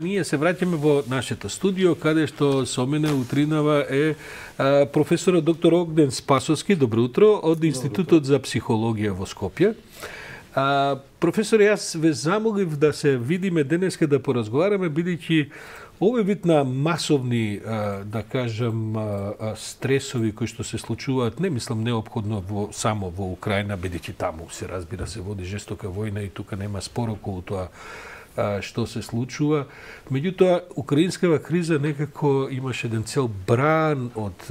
Ние се враќаме во нашето студио, каде што со мене утринава е професорот доктор Огнен Спасовски. Добро утро, од Институтот за психологија во Скопје. Професор, јас ве замолив да се видиме денеска да поразговараме, бидејќи овој вид на масовни, да кажам, стресови кои што се случуваат, не мислам неопходно само во Украина, бидејќи таму се разбира се води жестока војна и тука нема спор околу тоа што се случува. Меѓутоа, украинскава криза некако имаше еден цел бран од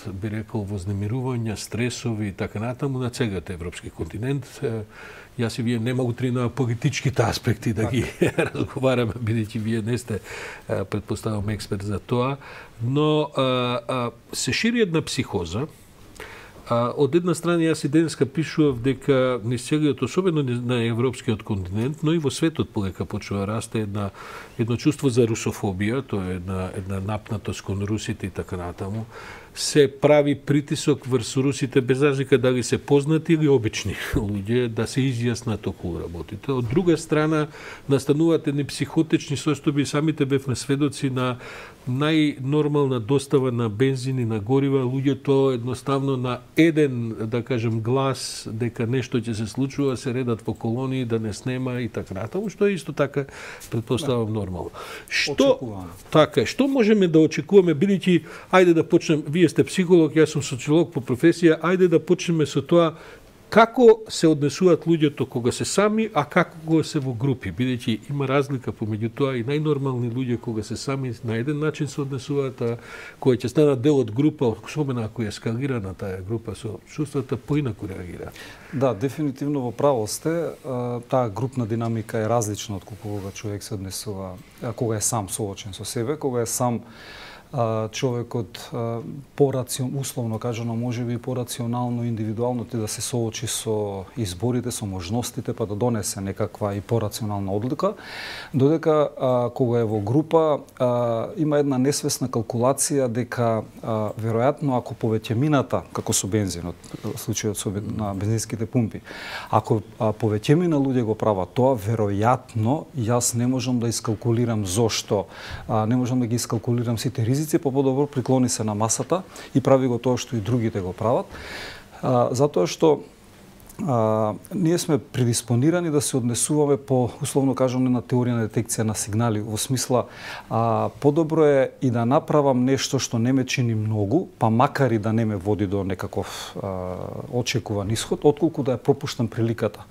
би рекол, вознемирувања, стресови и така натаму на целиот европски континент. Јас и вие нема утрина политичките аспекти да ги разговараме, бидејќи вие не сте, предпоставам, експерт за тоа, но се шири една психоза. Од една страна, јас и денеска пишував дека низ целиот, особено на европскиот континент, но и во светот полека почува да расте едно чувство за русофобија, тоа е една напнатост кон русите и така натаму. Се прави притисок врз русите, без разлика дали се познати или обични луѓе, да се изјаснат околу работите. Од друга страна, настануваат едни психотични состојби, самите бевме сведоци на најнормална достава на бензин и на горива, луѓето едноставно на еден, да кажем, глас дека нешто ќе се случува, се редат во колонии да не снема и така натаму, што е исто така, предпоставам, нормално. Што можеме да очекуваме, бидејќи, ајде да почнем, вие сте психолог, јас сум социолог по професија, ајде да почнеме со тоа како се однесуваат луѓето кога се сами, а како кога се во групи, бидејќи има разлика помеѓу тоа и најнормални луѓе кога се сами на еден начин се однесуваат, а кога ќе станат дел од група, особено ако е ескалирана таа група со чувствата, поинаку реагира. Да, дефинитивно во право сте. Таа групна динамика е различна од кога човек се однесува, кога е сам соочен со себе, кога е сам човекот условно кажано, можеби порационално, индивидуално да се соочи со изборите, со можностите, па да донесе некаква и порационална одлука, додека кога е во група има една несвесна калкулација дека веројатно ако повеќемината, како со бензинот, случајот на бензинските пумпи, ако повеќемина луѓе го прават тоа, веројатно јас не можам да искалкулирам зошто, не можам да ги искалкулирам сите ризици, по-подобро приклони се на масата и прави го тоа што и другите го прават, затоа што ние сме предиспонирани да се однесуваме по, условно кажано, на теорија на детекција на сигнали, во смисла подобро е и да направам нешто што не ме чини многу, па макар и да не ме води до некаков очекуван исход, отколку да ја пропуштам приликата.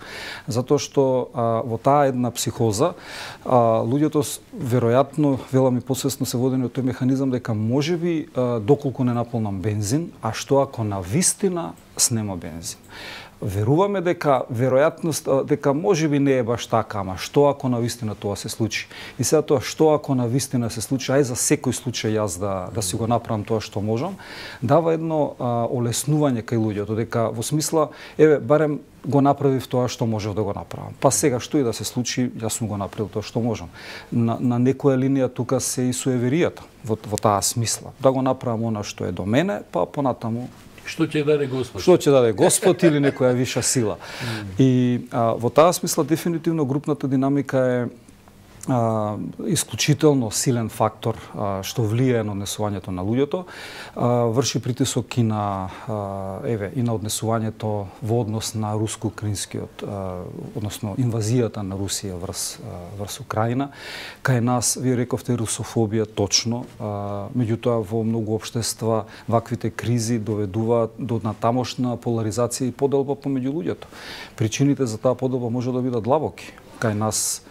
Затоа што во таа една психоза луѓето веројатно, велами посвесно се водени од тој механизам дека можеби доколку не наполнам бензин, а што ако навистина снема бензин. Веруваме дека веројатност дека можеби не е баш така, ама што ако навистина тоа се случи? И сега тоа што ако навистина се случи, ај за секој случај јас да си го направам тоа што можам, дава едно олеснување кај луѓето, дека во смисла еве барем го направив тоа што можев да го направам. Па сега што и да се случи, јас сум го направил тоа што можам. На некоја линија тука се и суеверијата во таа смисла. Да го направам она што е до мене, па понатаму што ќе даде Господ? Што ќе даде Господ или некоја виша сила. И во таа смисла дефинитивно групната динамика е исклучително силен фактор што влијае на однесувањето на луѓето, врши притисок и на однесувањето во однос на руско-украинскиот, односно инвазијата на Русија врз Украина. Кај нас, вие рековте, русофобија, точно, меѓутоа во многу општества ваквите кризи доведуваат до натамошна поларизација и поделба помеѓу луѓето. Причините за таа поделба може да бидат длабоки. Кај нас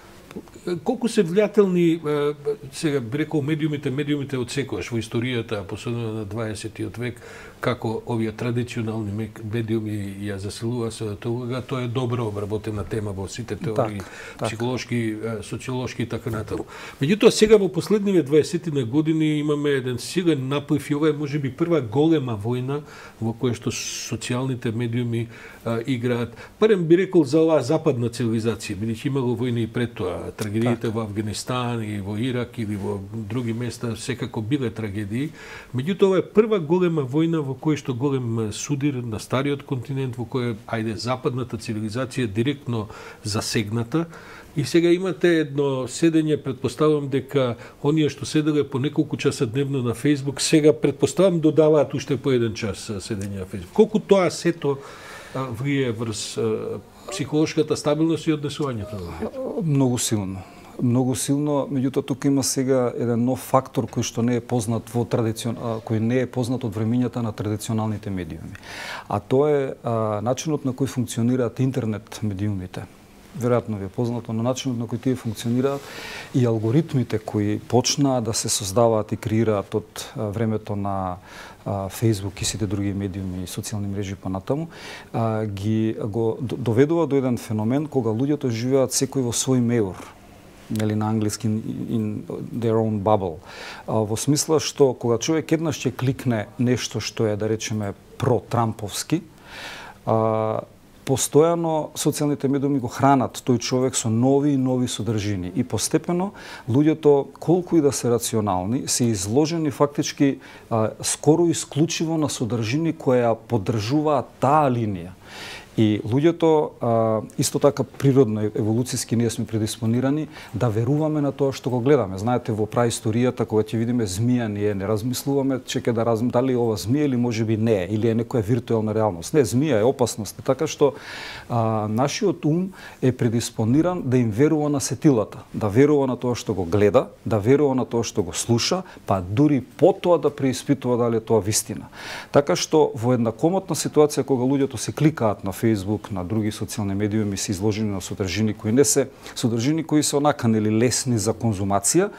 колку се влијателни, сега би рекол, медиумите од секојаш во историјата, посебно на 20-тиот век, како овие традиционални медиуми ја заселува светата улога, тоа е добро обработена тема во сите теории, психолошки, социолошки и така натаму. Меѓутоа, сега во последниве 20 години имаме еден силен наплив и ова е можеби прва голема војна во која што социјалните медиуми играат. Барем би рекол за оваа западна цивилизација, бидејќи имало војни и пред тоа, трагедиите во Афганистан и во Ирак или во други места секако биле трагедии. Меѓутоа, ова е прва голема војна во кој што голем судир на стариот континент, во кој западната цивилизација директно засегната. И сега имате едно седење, предпоставам дека оние што седеле по неколку часа дневно на Facebook, сега предпоставам додаваат уште по 1 час седење на Facebook. Колку тоа сето влие врз психолошката стабилност и однесувањето на луѓето? Многу силно. Многу силно, меѓутоа тука има сега еден нов фактор кој што не е познат кој не е познат од времењата на традиционалните медиуми. А тоа е начинот на кој функционираат интернет медиумите. Веројатно ви е познато на начинот на кој тие функционираат и алгоритмите кои почнаа да се создаваат и креираат од времето на Facebook и сите други медиуми и социјални мрежи понатаму, го доведува до еден феномен кога луѓето живеат секој во свој меур, нели на англиски in their own bubble. Во смисла што кога човек еднаш ќе кликне нешто што е, да речеме, про-трамповски, постојано социјалните медиуми го хранат тој човек со нови и нови содржини и постепено луѓето, колку и да се рационални, се изложени фактички скоро исклучиво на содржини кои ја поддржуваат таа линија. И луѓето, исто така природно, еволуцијски ние сме предиспонирани да веруваме на тоа што го гледаме. Знаете, во праисторијата, кога ќе видиме змија, ние не размислуваме чека да дали ова змија или можеби не е, или е некоја виртуелна реалност. Не, змија е опасност. Така што нашиот ум е предиспониран да им верува на сетилата, да верува на тоа што го гледа, да верува на тоа што го слуша, па дури потоа да преиспитува дали е тоа вистина. Така што во една комотна ситуација кога луѓето се кликаат на Facebook, на други социјални медиуми се изложени на содржини кои не се содржини кои се онака нели лесни за конзумација,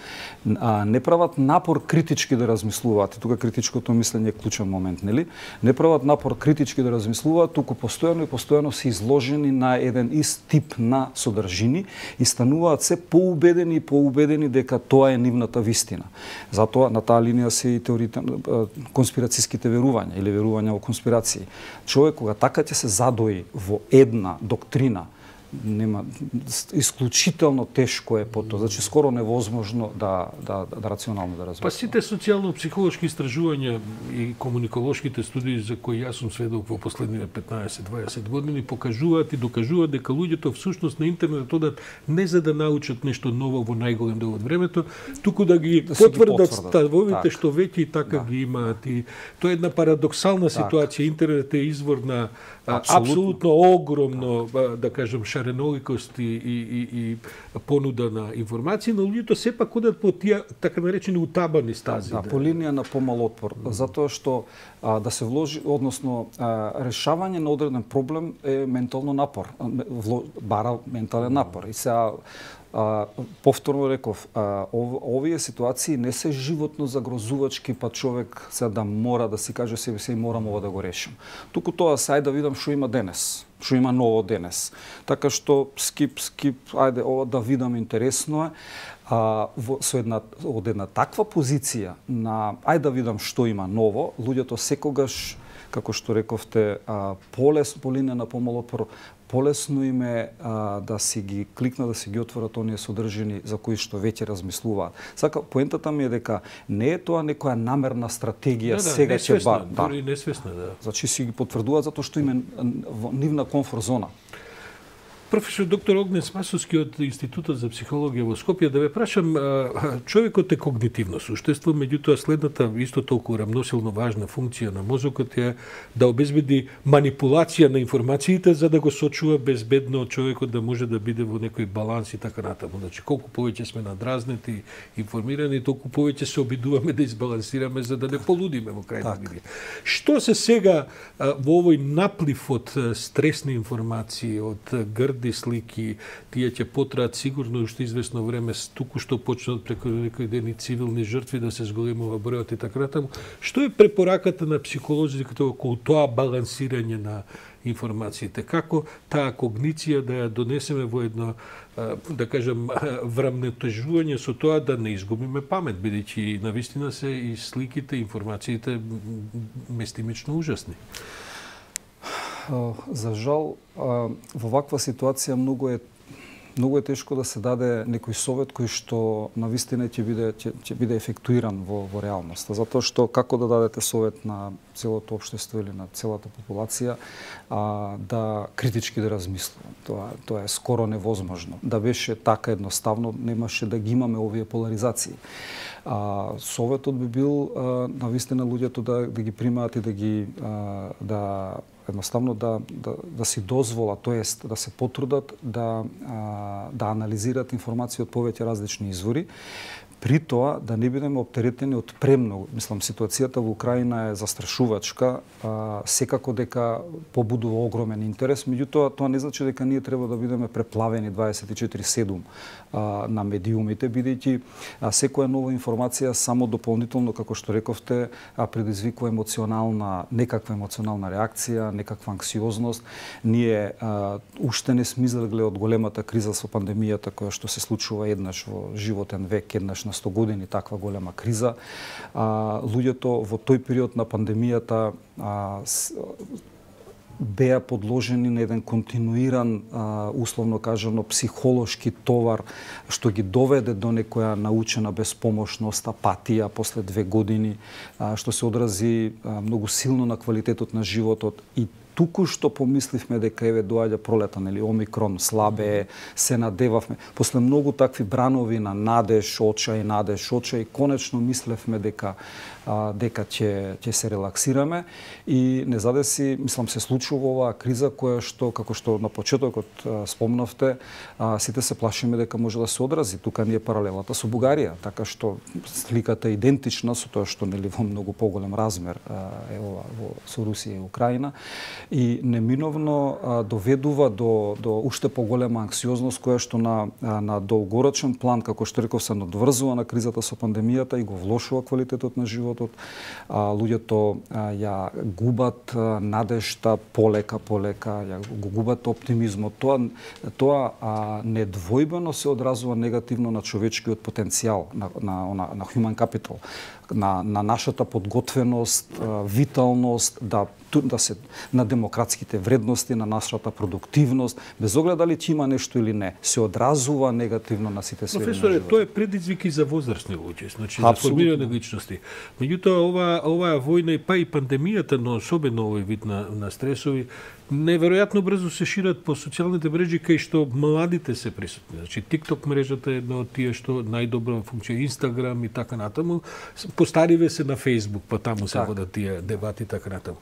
не прават напор критички да размислуваат. И тука критичкото мислење е клучен момент, нели? Не прават напор критички да размислуваат, туку постојано се изложени на еден ист тип на содржини и стануваат се поубедени дека тоа е нивната вистина. Затоа на таа линија се и теориите конспирацијските верувања или верувања во конспирации. Човек кога така ќе се задои во една доктрина, нема исклучително тешко е потоа, значи скоро невозможно да рационално да разбереме. Па сите социјално-психолошки истражувања и комуниколошките студии за кои јас сум сведок во последните 15-20 години покажуваат и докажуваат дека луѓето всушност на интернет одат не за да научат нешто ново во најголем дел од времето, туку да ги потврдат ставовите што веќе и така ги имаат. И тоа е една парадоксална ситуација. Интернет е извор на апсолутно огромно, да кажем, шареноликост и понуда на информации, но луѓето сепак одат по тие така наречени утабани стази. Да, по линија на помал отпор, затоа што да се вложи, односно решавање на одреден проблем е ментално напор, бара ментален напор. И сега повторно реков, овие ситуации не се животно загрозувачки, па човек сега да мора да си каже себе се и морам ова да го решим. Туку тоа сај да видам што има денес, што има ново денес. Така што скип, ајде ова да видам, интересно е. Од една таква позиција на ајде да видам што има ново, луѓето секогаш, како што рековте, по линија на помал отпор, полесно им е да си ги кликнат, да си ги отворат оние содржини за кои што веќе размислуваат. Сака, поентата ми е дека не е тоа некоја намерна стратегија, сега ќе ба. Дори несвесна, да. Значи си ги потврдуваат затоа што им е нивна комфорт зона. Професор доктор Огнен Спасовски од Институтот за психологија во Скопје, да ве прашам, човекот е когнитивно суштество, меѓутоа следната исто толку рамносилно важна функција на мозокот е да обезбеди манипулација на информациите за да го сочува безбедно човекот да може да биде во некој баланс и така натаму. Значи колку повеќе сме надразнети, информирани, толку повеќе се обидуваме да избалансираме за да не полудиме во крајна линија. Што се сега во овој наплив од стресни информации, од грди слики, тие ќе потраат сигурно уште известно време, туку што почнат преку некои дени цивилни жртви да се зголемува бројот и така натаму. Што е препораката на психолозите околу тоа балансирање на информациите? Како таа когниција да ја донесеме во едно, да кажем, врамнетежување со тоа да не изгубиме памет, бидејќи навистина се и сликите, информациите местимично ужасни? За жал, во ваква ситуација многу е многу е тешко да се даде некој совет кој што навистина ќе биде ефектуиран во реалноста, затоа што како да дадете совет на целото општество или на целата популација да критички да размислува. Тоа е скоро невозможно. Да беше така едноставно, немаше да ги имаме овие поларизации. Советот би бил навистина луѓето да ги примаат и едноставно да си дозволат, тоест да се потрудат да анализираат информација од повеќе различни извори, при тоа да не бидеме оптеретени од премногу. Мислам, ситуацијата во Украина е застрашувачка, секако дека побудува огромен интерес, меѓутоа тоа не значи дека ние треба да бидеме преплавени 24/7 на медиумите, бидејќи секоја нова информација само дополнително, како што рековте, предизвикува некаква емоционална реакција, некаква анксиозност. Ние уште не сме излегле од големата криза со пандемијата која што се случува еднаш во животен век, еднаш на 100 години таква голема криза. Луѓето во тој период на пандемијата беа подложени на еден континуиран, условно кажано, психолошки товар, што ги доведе до некоја научена беспомошност, апатија после 2 години, што се одрази многу силно на квалитетот на животот. И туку што помисливме дека еве доаѓа пролета, нели, омикрон, слабе, се надевавме. После многу такви бранови на надеж, очај, конечно мислевме дека ќе се релаксираме и не задеси, мислам, се случува оваа криза која што, како што на почетокот спомнавте, сите се плашиме дека може да се одрази. Тука ни е паралелата со Бугарија, така што сликата е идентична со тоа што, нели, во многу поголем размер е ова со Русија и Украина. И неминовно доведува до уште поголема анксиозност која што на долгорочен план, како што реков, се надврзува на кризата со пандемијата и го влошува квалитетот на животот. Луѓето ја губат надежта полека, ја го губат оптимизмот. Тоа недвојбено се одразува негативно на човечкиот потенцијал, на human capital, на нашата подготвеност, виталност, на демократските вредности, на нашата продуктивност, без оглед дали ќе има нешто или не, се одразува негативно на сите сфери на животот. Професоре, тоа е предизвик и за возрастни луѓе, значи за формирање личности. Меѓутоа, оваа војна и пандемијата, но особено овој вид на стресови, неверојатно брзо се шират по социјалните мрежи кај што младите се присутни. Значи TikTok мрежата е една од тие што најдобро функција, Instagram и така натаму. Постариве се на Facebook, па таму се водат тие дебати и така натаму.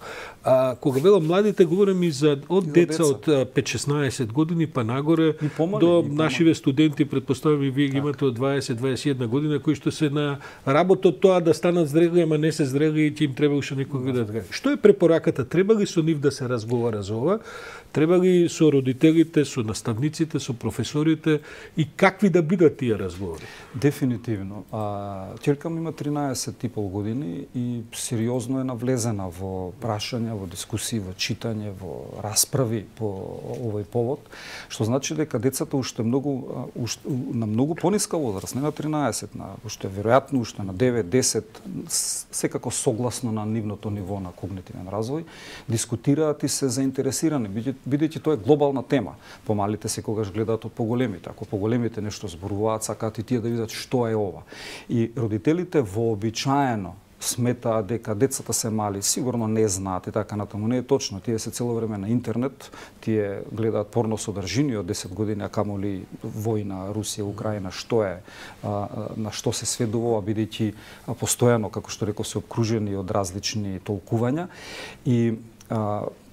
Кога велам младите, говорам и за од деца од 5-16 години па нагоре до нашиве студенти, претпоставам и вие ги имате од 20-21 година, кои што се на работа тоа да станат зрели, ама не се зрели и ќе им треба уште некој да така. Што е препораката? Треба ли со нив да се разговара за ова? Треба ли со родителите, со наставниците, со професорите и какви да бидат тие разговори? Дефинитивно. Ќерка ми има 13,5 години и сериозно е навлезена во прашања, во дискусии, во читање, во расправи по овој повод, што значи дека децата уште на многу пониска возраст, не на 13, уште веројатно уште на 9-10, секако согласно на нивното ниво на когнитивен развој, дискутираат и се заинтересирани, бидејќи тоа е глобална тема. Помалите секогаш гледаат од поголемите. Ако поголемите нешто зборуваат, сакаат и тие да видат што е ова. И родителите вообичаено сметаат дека децата се мали, сигурно не знаат и така натаму. Не е точно. Тие се цело време на интернет, тие гледаат порно содржини од 10 години, а камоли војна Русија, Украина, што е, на што се сведува, бидејќи постојано, како што реков, се обкружени од различни толкувања. И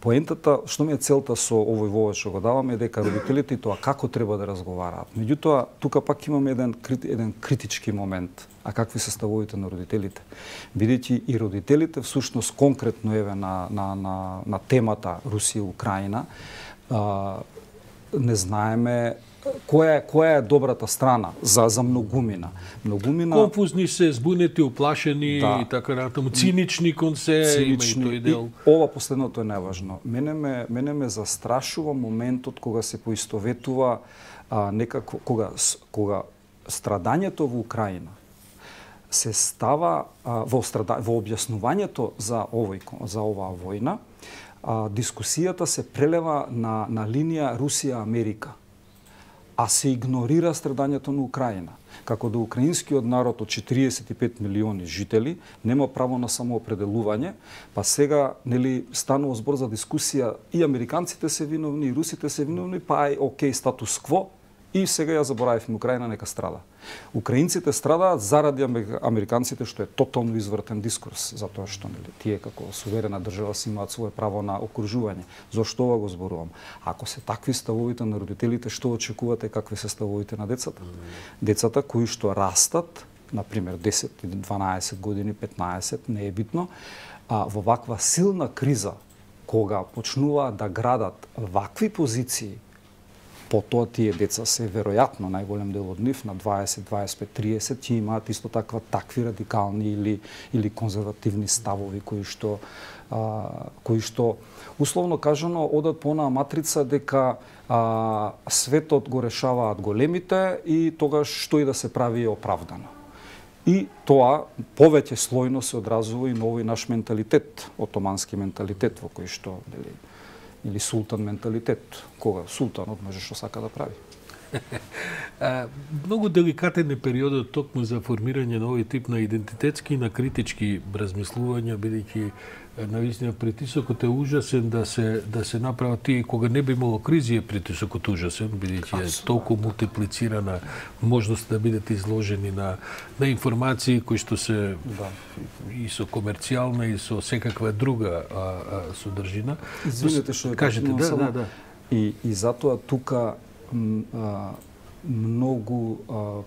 поентата, што ми е целта со овој вовод што го даваме, е дека родителите и тоа како треба да разговараат. Меѓутоа, тука пак имаме еден критички момент. А какви се ставовите на родителите? Бидејќи и родителите, всушност конкретно еве на темата Русија-Украина, не знаеме која е добрата страна за многумина. Конфузни се, збунети, уплашени и така натаму, цинични кон се, има и тој дел. Ова последното е неважно. Мене ме застрашува моментот кога се поистоветува некако, кога страдањето во Украина се става во објаснувањето за оваа војна, дискусијата се прелева на линија Русија-Америка. а се игнорира страдањето на Украина. Како да украинскиот народ од 45 милиони жители нема право на самоопределување, па сега нели станува збор за дискусија и американците се виновни, и русите се виновни, па ај окей статус кво, и сега ја заборавивме Украина нека страда. Украинците страдаат заради американците, што е тотално извртен дискурс, затоа што нели тие како суверена држава си имаат свое право на окружување. Зошто ова го зборувам? Ако се такви ставовите на родителите, што очекувате какви се ставовите на децата? Децата кои што растат, например 10, 12 години, 15, не е битно, во ваква силна криза, кога почнуваат да градат вакви позиции, потоа тие деца се веројатно најголем дел од нив на 20, 25, 30 ќе имаат исто такви радикални или конзервативни ставови кои што условно кажано одат по онаа матрица дека светот го решаваат големите и тогаш што и да се прави е оправдано. И тоа повеќе слојно се одразува и на овој наш менталитет, отомански менталитет во кој што или султан менталитет, кога султанот може што сака да прави. Многу деликатен е периодот токму за формирање на овој тип на идентитетски и на критички размислувања, бидејќи навистина притисокот е ужасен да се направат тие кога не би имало кризи, е притисокот ужасен, бидејќи е толку мултиплицирана можност да бидете изложени на информации кои што се и со комерцијална и со секаква друга содржина. Извинете што кажете, да. И затоа тука многу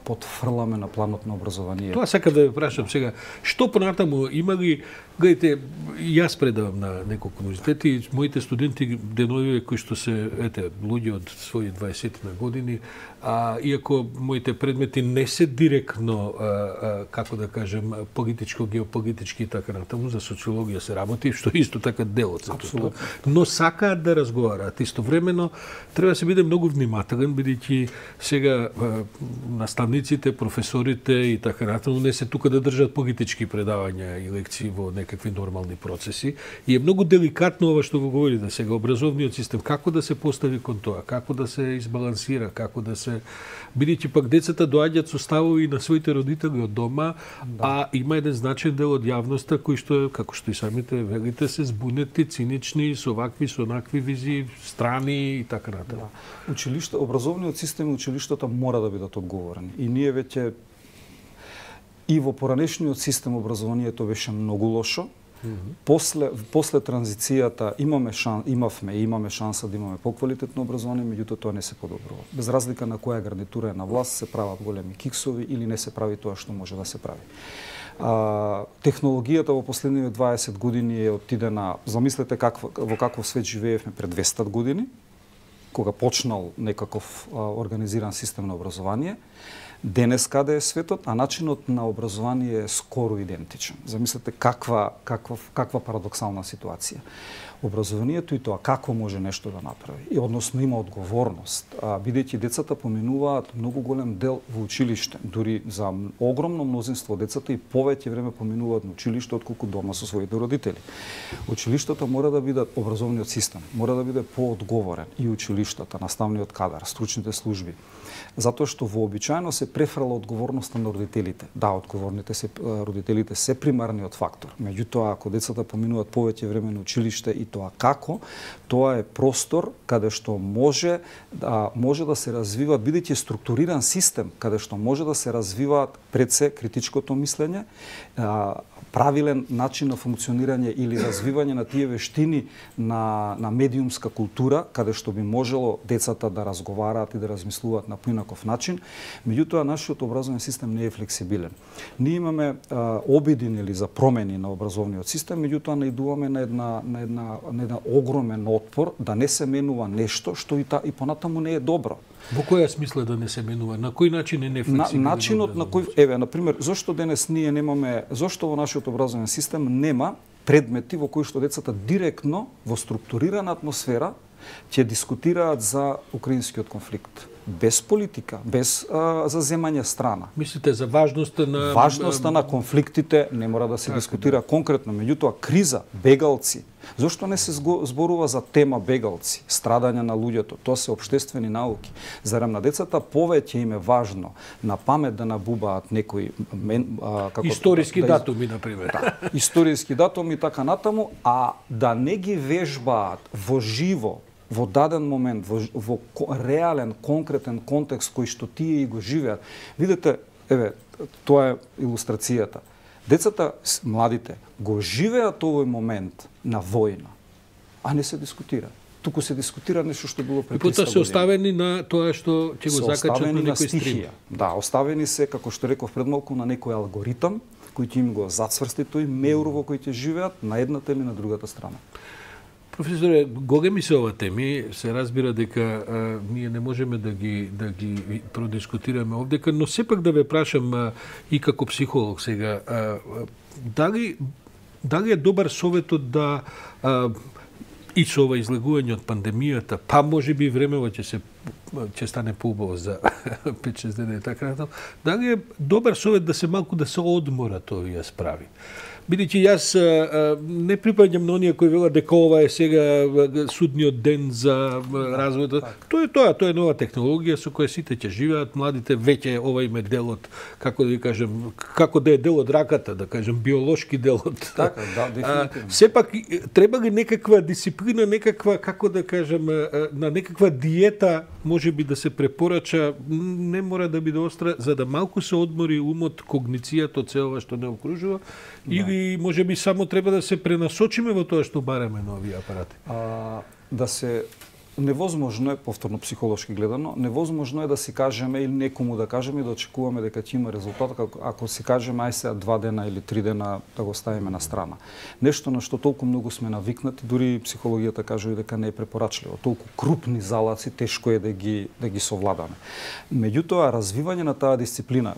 потфрламе на планот на образованието. Тоа сакам да ве прашам сега, што понатаму има ли, гледайте, јас предавам на неколку универзитети, моите студенти денови кои што се луѓе од своји 20 на години, иако моите предмети не се директно како да кажем политичко, геополитички и така натаму, за социологија се работи, што исто така дел од сето тоа. Но сакаат да разговараат. Истовремено треба да се биде многу внимателен, бидејќи сега наставниците, професорите и така натаму не се тука да држат политички предавања и лекции во некакви нормални процеси. И е многу деликатно ова што го говорите сега, образовниот систем, како да се постави кон тоа, како да се избалансира, како да се бидејќи пак децата доаѓаат со ставови на своите родители од дома, а има еден значаен дел од јавноста кои што, како што и самите велите, се збунети, цинични, со вакви, со онакви визии, страни и така натаму. Училиште, образовниот систем и училиштата мора да бидат одговорени. И ние веќе и во поранешниот систем образованието беше многу лошо. После транзицијата имаме шанса да имаме поквалитетно образование, меѓутоа тоа не се подобрува. Без разлика на која гарнитура е на власт, се прават големи киксови или не се прави тоа што може да се прави. Технологијата во последниве 20 години е отидена, замислете во каков свет живеевме пред 200 години, кога почнал некаков организиран систем на образование. Денес каде е светот, а начинот на образование е скоро идентичен. Замислете каква парадоксална ситуација. Образованието и тоа како може нешто да направи, и односно има одговорност, бидејќи децата поминуваат многу голем дел во училиште, дури за огромно мнозинство децата и повеќе време поминуваат на училиште отколку дома со своите родители. Училиштата мора да бидат, образовниот систем мора да биде поодговорен, и училиштата, наставниот кадар, стручните служби, затоа што вообичаено се префрла одговорноста на родителите. Да, родителите се примарниот фактор. Меѓутоа, ако децата поминуваат повеќе време на училиште и тоа како, тоа е простор каде што може да се развива, бидејќи структуриран систем, каде што може да се развиваат пред се критичкото мислење, правилен начин на функционирање или развивање на тие вештини на медиумска култура, каде што би можело децата да разговараат и да размислуваат на поинаков начин. Меѓутоа, нашиот образовен систем не е флексибилен. Ние имаме обиди за промени на образовниот систем, меѓутоа наидуваме на една огромен отпор да не се менува нешто што и понатаму не е добро. Во која смисла да не се менува? На кој начин е нефлексибилен? Начинот на кој, например, зошто денес ние немаме, зошто во нашиот образовен систем нема предмети во кои што децата директно во структурирана атмосфера ќе дискутираат за украинскиот конфликт, без политика, без заземање страна. Мислите за важноста на конфликтите не мора да се дискутира конкретно, меѓутоа криза, бегалци, Зошто не се зборува за тема бегалци, страдање на луѓето? Тоа се општествени науки. Зарем на децата повеќе им е важно на памет да набубаат некои историски датуми, например. Да, историски датуми и така натаму, а да не ги вежбаат во живо, во даден момент, во реален, конкретен контекст кој што тие и го живеат. Видете, еве, тоа е илустрацијата. Децата, младите, го живеат овој момент на војна, а не се дискутира. Туку се дискутира нешто што било пред 300 години. И потоа се оставени на тоа што ќе го закачат на некој стрим. Да, оставени се, како што реков пред малку, на некој алгоритам, кој ќе им го зацврсти тој меур во кој ќе живеат на едната или на другата страна. Професоре, големи се ова теми, се разбира дека ние не можеме да ги продискутираме овдека, но сепак да ве прашам и како психолог сега, дали е добар советот да и со ова излегување од пандемијата, па можеби времево ќе стане поубаво за 5-6 дена и така натаму, дали е добар совет да се малку да се одморат овие справи? Бидејќи јас не припаѓам на оние кои велат дека ова е сега судниот ден за развојот. Тоа е нова технологија со која сите ќе живеат, младите веќе ова им е делот, како да ви кажем, како да е дел од раката, да кажем биолошки дел од. Така, да, дефинитивно. Сепак треба ли некаква дисциплина, некаква, како да кажем, на некаква диета можеби да се препорача, не мора да биде остра, за да малку се одмори умот, когницијата од цело што не окружува, или можеби само треба да се пренасочиме во тоа што бараме на овие апарати? Невозможно е, повторно психолошки гледано, невозможно е да си кажеме или некому да кажеме и да очекуваме дека ќе има резултат, ако си кажеме ај сега 2 дена или 3 дена да го ставиме на страна. Нешто на што толку многу сме навикнати, дури психологијата кажува дека не е препорачливо. Толку крупни залаци тешко е да ги совладаме. Меѓутоа, развивање на таа дисциплина,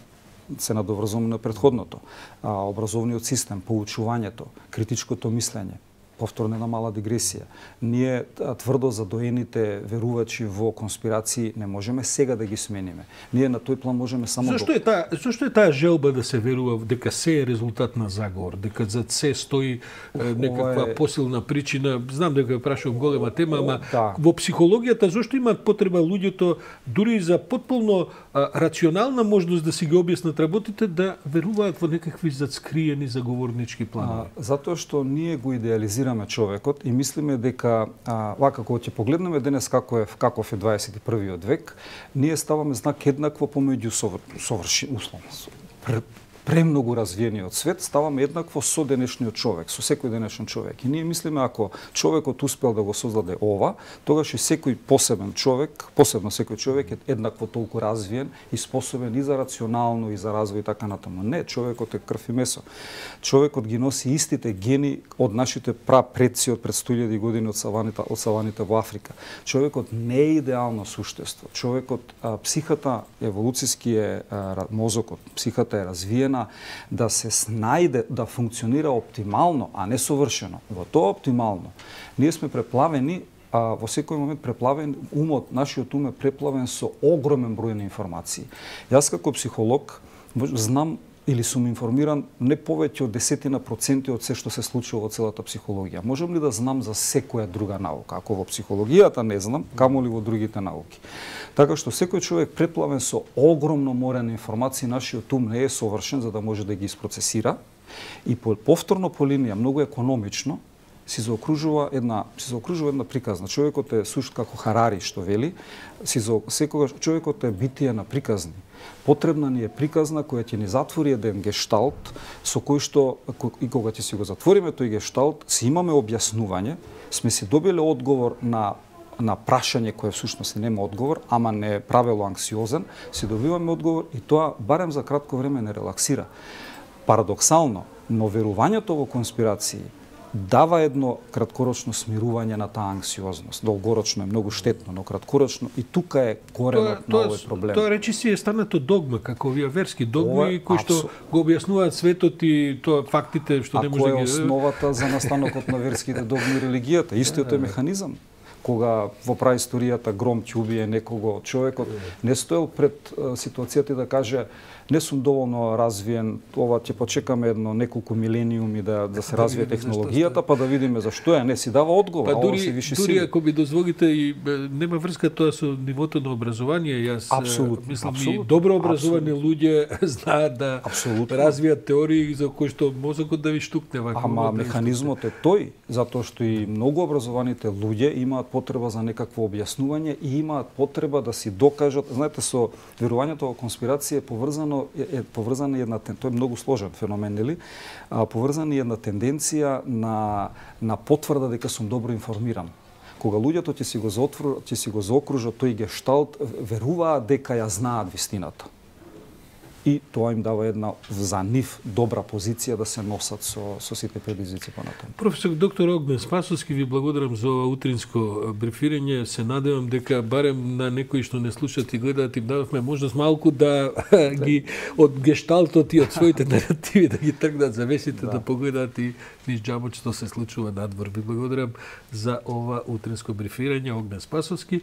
се надоврзуваме на предходното, образовниот систем, поучувањето, критичкото мислење, повторно една мала дигресија. Ние тврдо задоените верувачи во конспирации не можеме сега да ги смениме. Ние на тој план можеме само Зошто е таа желба да се верува дека се е резултат на заговор, дека зад се стои некаква посилна причина? Знам дека прашувам голема тема, ама во психологијата зошто имаат потреба луѓето дури за потполно рационална можност да си ги објаснат работите да веруваат во некакви задскриени заговорнички планови? Затоа што ние го идеализираме човекот и мислиме дека вака кога ќе погледнеме денес каков е 21-виот век, ние ставаме знак еднакво помеѓу премногу развиениот свет, ставаме еднакво со денешниот човек, со секој денешен човек. И ние мислиме ако човекот успел да го создаде ова, тогаш и секој посебен човек, посебно секој човек е еднакво толку развиен и способен и за рационално и за развој и така натаму. Не, човекот е крв и месо. Човекот ги носи истите гени од нашите прапредци од пред 100.000 години од саваните во Африка. Човекот не е идеално суштество. Човекот, психата, еволуциски мозокот, психата е развиена да се снајде, да функционира оптимално, а не совршено. Во тоа оптимално, ние сме преплавени, во секој момент преплавен умот, нашиот ум е преплавен со огромен број на информации. Јас како психолог знам или сум информиран не повеќе од 10% од се што се случува во целата психологија. Можам ли да знам за секоја друга наука? Ако во психологијата не знам, камоли во другите науки. Така што секој човек преплавен со огромно море на информации, нашиот ум не е совршен за да може да ги испроцесира и повторно по линија многу економично си заокружува една приказна. Човекот е сушт како Харари што вели, секогаш човекот е битие на приказни. Потребна ни е приказна која ќе ни затвори еден гешталт со кој што и кога ќе си го затвориме тој гешталт, си имаме објаснување, сме си добиле одговор на прашање кое всушност нема одговор, ама не е правило анксиозен, си добиваме одговор и тоа барем за кратко време не релаксира. Парадоксално, но верувањето во конспирации дава едно краткорочно смирување на таа анксиозност. Долгорочно е многу штетно, но краткорочно и тука е коренот на овој проблем. Тоа речиси е станато догма, како овие верски догми кои што го објаснуваат светот и тоа фактите што не може да ги... Која е основата за настанокот на верските догми и религијата? Истиот е механизам. Кога во праисторијата гром ќе убие некого, човекот не стоел пред ситуацијата да каже не сум доволно развиен, ова ќе почекаме неколку милениуми да се развие технологијата, па да видиме зашто е, не си дава одговор, па дури ако би дозволите и нема врска тоа со нивото на образование, јас мислам и добро образовани луѓе знаат да развијат теории за кои што мозокот да ви штукне вака. Ама механизмот е тој, затоа што и многу образованите луѓе имаат потреба за некакво објаснување и имаат потреба да си докажат. Знаете, со верувањето во конспирација е поврзана една, тоа е многу сложен феномен, нели? Поврзана е една тенденција на потврда дека сум добро информиран. Кога луѓето ќе си го заокружат тој гешталт, веруваат дека ја знаат вистината. И тоа им дава една за нив добра позиција да се носат со сите предизвици понатаму. Професор доктор Огнен Спасовски, ви благодарам за ова утринско брифирање. Се надевам дека барем на некои што не слушаат и гледаат им дадовме можност малку да ги од гешталтот и од своите наративи да ги тргнат завесите, да погледаат и низ џабот што се случува надвор. Ви благодарам за ова утринско брифирање. Огнен Спасовски.